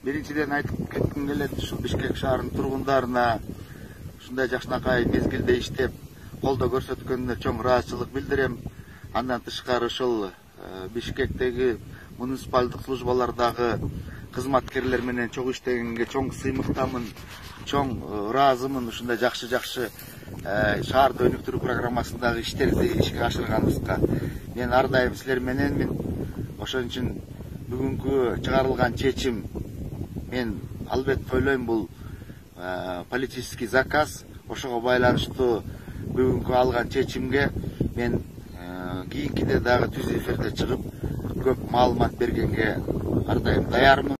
Биринчиден айтып кетким келет, ушул Бишкек шаарынын тургундарына ушундай жакшынакай мезгилде иштеп, колдоо көрсөткөнүнө чоң ыраазычылык билдирем. Андан тышкары ушул Бишкектеги муниципалдык службалардагы кызматкерлер менен чогуу иштегенге чоң сыймыктамын, чоң ыраазымын. Ушундай жакшы шаарды өнүктүрүү программасындагы иштерди ишке ашырганыбызга. Мен ар дайым силер мененмин. Ошон үчүн бүгүнкү чыгарылган чечим мен албетте ойлойм, бул политический заказ. Ошого байланыштуу бүгүнкү алган чечимге мен кийинкиде дагы түз эфирде чыгып көп маалымат бергенге ар дайым даярмын.